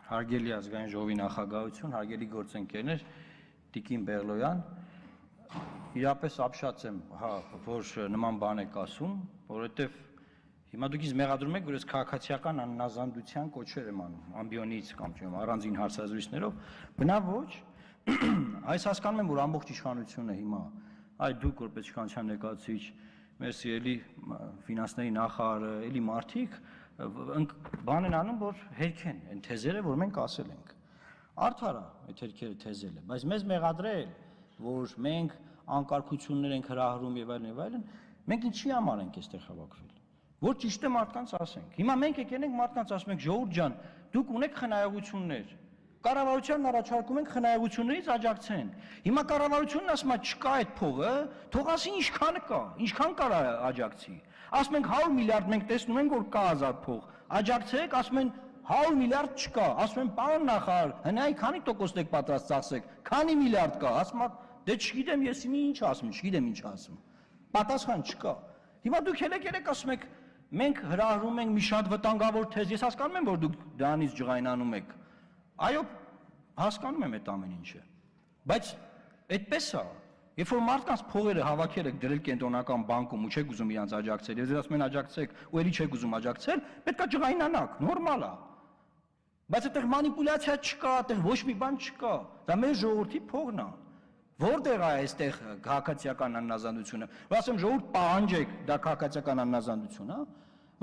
Հարգելի ազգային ժողովի նախագահություն, հարգելի գործընկերներ, Տիկին Բեղլոյան, իրապես ապշած եմ, որ նման բան եք ասում, որովհետև հիմա դուք ինձ մեղադրում եք, որ ես քաղաքացիական աննազանդության կոչեր եմ անում, ամբիոնից կամ առանձին հարցազրույցներով, բնավ ոչ, այս հասկանում եմ, որ ամբողջ իշխանությունը հիմա, այ դուք որպես իշխանության ներկայացուցիչ, մեր սիրելի ֆինանսների նախարարը, էլի մարդիկ բան են անում, որ հերքեն այն թեզերը, որ մենք ասել ենք։ Արդար է այդ հերքերը թեզելը, բայց մեզ մեղադրել, որ մենք անկարգություններ ենք հրահրում եւ այլն, մենք ինչի համար ենք այստեղ հավաքվել։ Որ ճիշտ է մարդկանց ասենք։ Հիմա մենք եկել ենք մարդկանց ասում ենք, ժողովուրդ ջան, դուք ունեք խնայողություններ։ Կառավարությանն առաջարկում ենք խնայողություններից աջակցեն։ Հիմա կառավարությունն ասում է չկա այդ փողը, թող ասի ինչքան կա, ինչքան կարա աջակցի։ Ասում ենք 100 միլիարդ մենք տեսնում ենք որ կա ազատ փող։ Աջակցեք, ասում են 100 միլիարդ չկա։ Ասում են պարոն նախարար, հնայի քանի տոկոսն եք պատրաստ ծախսեք։ Քանի միլիարդ կա։ Ասում է դե չգիտեմ ես ինչ ասում, չգիտեմ ինչ ասում։ Պատասխան չկա։ Հիմա դուք ելեք ասում եք մենք հրահրում ենք մի շատ վտանգավոր թեզ։ Ես հասկանում եմ որ դուք դրանից ջղայնանում եք։ Այո, հասկանում եմ այդ ամեն ինչը, բայց այդպես է, երբ որ մարդկանց փողերը հավաքել եք դրել կենտրոնական բանկում ու չեք ուզում իրանց աջակցել, եւ ասում են աջակցեք, ու ելի չեք ուզում աջակցել, պետք է ջղայնանաք, նորմալ է։ Բայց այդտեղ մանիպուլյացիա չկա, այդտեղ ոչ մի բան չկա, դա մեր ժողովրդի փողն է։ Որտեղ է այստեղ քաղաքացիական աննազանդությունը։ Որ ասեմ ժողովուրդ պահանջեք, դա քաղաքացիական աննազանդություն է։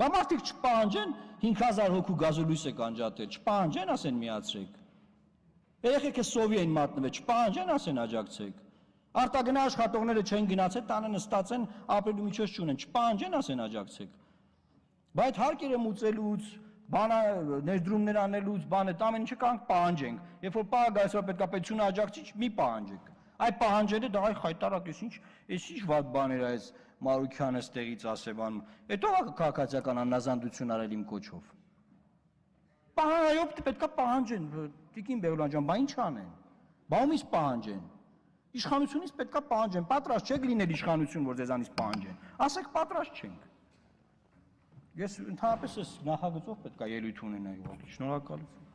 Բա մարդիկ չպահանջեն 5000 հոգու գազոլույս եք անջատել, չպահանջեն ասեն միացրեք։ Երեխեքը սովի են մատնվել, չպահանջեն ասեն աջակցեք։ Արտագնա աշխատողները չեն գնացել, տանը նստած են, ապրելու միջոց չունեն, չպահանջեն ասեն աջակցեք։ Բայց հարկերը մուծելուց, բանը ներդրումներ անելուց, բանը ամեն ինչը կանք պահանջենք։ Երբ որ պահը գալիս է պետքապետությունը աջակցի, մի պահանջեք։ Այ պահանջելը դա այ խայտարակ էս ինչ վատ բաներ է այս Մարուքյանը ստեղից ասեվանում։ Հետո քաղաքացիական աննազանդություն արել իմ կոչով։ Այո, պետքա պահանջեն, Տիկին Բեղլոյան ջան, բա ինչ անեն։ Բա ումից պահանջեն։ Իշխանությունից պետքա պահանջեն, պատրաստ չեք լինել իշխանություն, որ ձեզանից պահանջեն։ Ասեք պատրաստ չենք։ Ես ընդհանրապես այս նախագծով պետքա ելույթ ունենայի, շնորհակալություն։